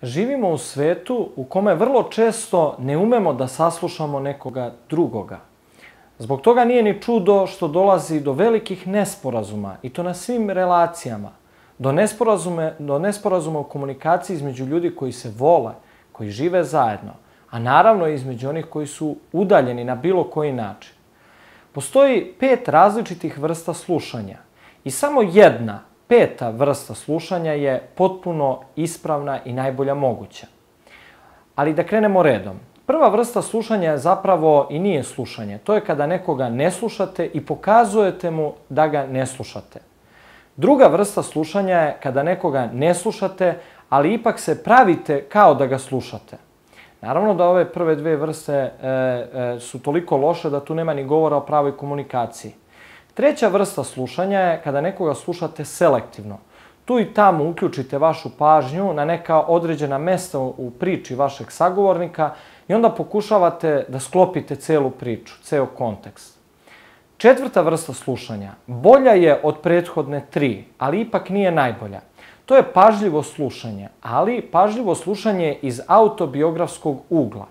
Živimo u svetu u kome vrlo često ne umemo da saslušamo nekoga drugoga. Zbog toga nije ni čudo što dolazi do velikih nesporazuma, i to na svim relacijama. Do nesporazuma u komunikaciji između ljudi koji se vole, koji žive zajedno, a naravno i između onih koji su udaljeni na bilo koji način. Postoji 5 različitih vrsta slušanja i samo jedna, 5. vrsta slušanja je potpuno ispravna i najbolja moguća. Ali da krenemo redom. Prva vrsta slušanja je zapravo i nije slušanje. To je kada nekoga ne slušate i pokazujete mu da ga ne slušate. Druga vrsta slušanja je kada nekoga ne slušate, ali ipak se pravite kao da ga slušate. Naravno da ove prve 2 vrste su toliko loše da tu nema ni govora o pravoj komunikaciji. Treća vrsta slušanja je kada nekoga slušate selektivno. Tu i tamo uključite vašu pažnju na neka određena mesta u priči vašeg sagovornika i onda pokušavate da sklopite celu priču, ceo kontekst. Četvrta vrsta slušanja bolja je od prethodne 3, ali ipak nije najbolja. To je pažljivo slušanje, ali pažljivo slušanje iz autobiografskog ugla.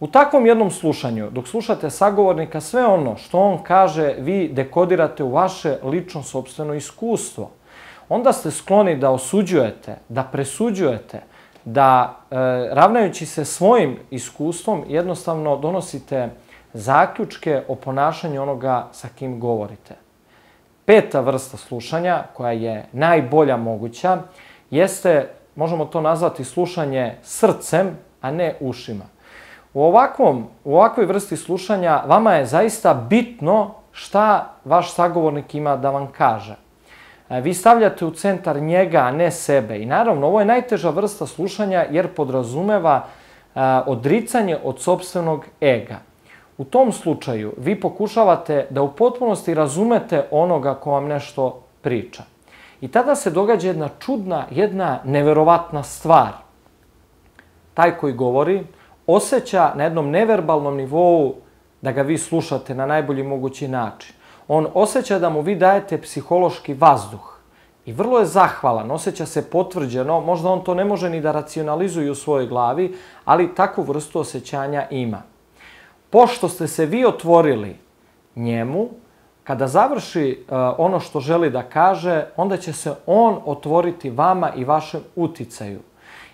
U takvom jednom slušanju, dok slušate sagovornika, sve ono što on kaže vi dekodirate u vaše lično sopstveno iskustvo. Onda ste skloni da osuđujete, da presuđujete, da ravnajući se svojim iskustvom jednostavno donosite zaključke o ponašanju onoga sa kim govorite. 5. vrsta slušanja, koja je najbolja moguća, jeste, možemo to nazvati slušanje srcem, a ne ušima. U ovakvoj vrsti slušanja vama je zaista bitno šta vaš sagovornik ima da vam kaže. Vi stavljate u centar njega, a ne sebe. I naravno, ovo je najteža vrsta slušanja jer podrazumeva odricanje od sopstvenog ega. U tom slučaju vi pokušavate da u potpunosti razumete onoga ko vam nešto priča. I tada se događa jedna čudna, jedna neverovatna stvar. Taj koji govori osjeća na jednom neverbalnom nivou da ga vi slušate na najbolji mogući način. On osjeća da mu vi dajete psihološki vazduh i vrlo je zahvalan, osjeća se potvrđeno, možda on to ne može ni da racionalizuje u svojoj glavi, ali takvu vrstu osjećanja ima. Pošto ste se vi otvorili njemu, kada završi ono što želi da kaže, onda će se on otvoriti vama i vašem uticaju.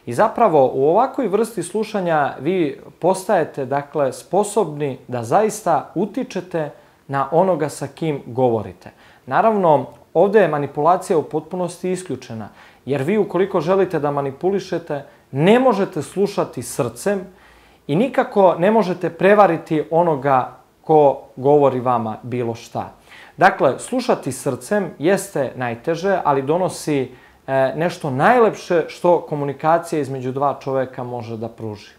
I zapravo u ovakvoj vrsti slušanja vi postajete sposobni da zaista utičete na onoga sa kim govorite. Naravno, ovdje je manipulacija u potpunosti isključena, jer vi ukoliko želite da manipulišete, ne možete slušati srcem i nikako ne možete prevariti onoga ko govori vama bilo šta. Dakle, slušati srcem jeste najteže, ali donosi nešto najlepše što komunikacija između 2 čoveka može da pruži.